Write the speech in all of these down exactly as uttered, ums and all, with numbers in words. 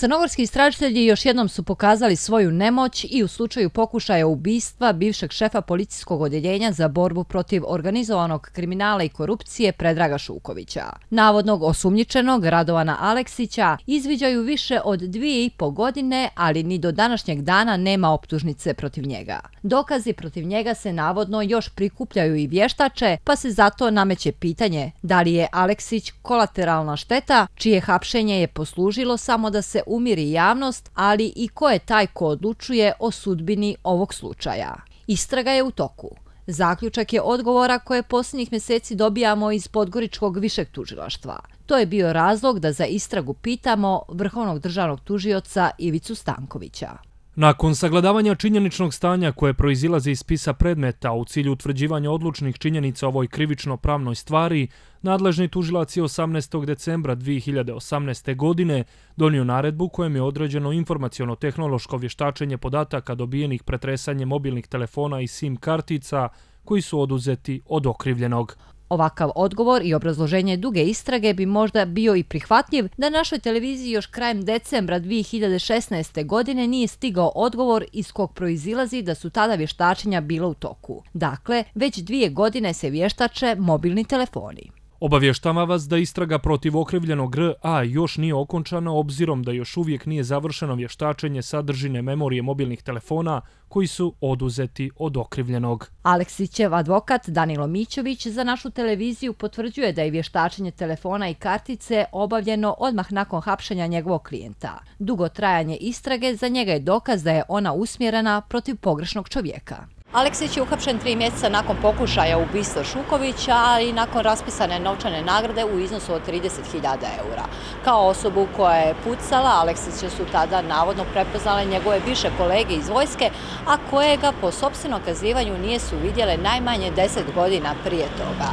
Crnogorski istražitelji još jednom su pokazali svoju nemoć i u slučaju pokušaja ubistva bivšeg šefa policijskog odjeljenja za borbu protiv organizovanog kriminala i korupcije Predraga Šukovića. Navodnog osumnjičenog Radovana Aleksića izviđaju više od dvije i po godine, ali ni do današnjeg dana nema optužnice protiv njega. Dokazi protiv njega se navodno još prikupljaju i vještače, pa se zato nameće pitanje da li je Aleksić kolateralna šteta, čije hapšenje je poslužilo samo da se umiri javnost, ali i ko je taj ko odlučuje o sudbini ovog slučaja. Istraga je u toku. Zaključak je odgovora koje posljednjih mjeseci dobijamo iz Podgoričkog višeg tužilaštva. To je bio razlog da za istragu pitamo vrhovnog državnog tužioca Ivicu Stankovića. Nakon sagledavanja činjeničnog stanja koje proizilaze iz spisa predmeta u cilju utvrđivanja odlučnih činjenica o ovoj krivično-pravnoj stvari, nadležni tužilac je osamnaestog decembra dvije hiljade osamnaeste. godine donio naredbu kojem je određeno informaciono-tehnološko vještačenje podataka dobijenih pretresanjem mobilnih telefona i sim kartica koji su oduzeti od okrivljenog. Ovakav odgovor i obrazloženje duge istrage bi možda bio i prihvatljiv da našoj televiziji još krajem decembra dvije hiljade šesnaeste. godine nije stigao odgovor iz kog proizilazi da su tada vještačenja bila u toku. Dakle, već dvije godine se vještače mobilni telefoni. Obavještava vas da istraga protiv okrivljenog R A još nije okončana obzirom da još uvijek nije završeno vještačenje sadržine memorije mobilnih telefona koji su oduzeti od okrivljenog. Aleksićev advokat Danilo Mićović za našu televiziju potvrđuje da je vještačenje telefona i kartice obavljeno odmah nakon hapšenja njegovog klijenta. Dugo trajanje istrage za njega je dokaz da je ona usmjerena protiv pogrešnog čovjeka. Aleksić je uhapšen tri mjeseca nakon pokušaja ubistva Šukovića, ali i nakon raspisane novčane nagrade u iznosu od trideset hiljada eura. Kao osobu koja je pucala, Aleksića su tada navodno prepoznale njegove bivše kolege iz vojske, a koje ga po sopstvenom kazivanju nisu vidjele najmanje deset godina prije toga.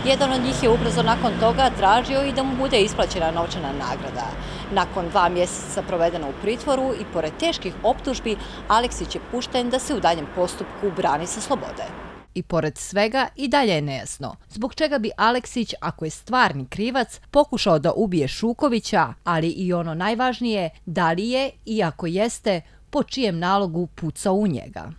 Jedan od njih je ubrzo nakon toga tražio i da mu bude isplaćena novčana nagrada. Nakon dva mjeseca provedeno u pritvoru i pored teških optužbi, Aleksić je pušten da se u daljem postupku brani sa slobode. I pored svega i dalje je nejasno zbog čega bi Aleksić, ako je stvarni krivac, pokušao da ubije Šukovića, ali i ono najvažnije, da li je i ako jeste, po čijem nalogu pucao u njega.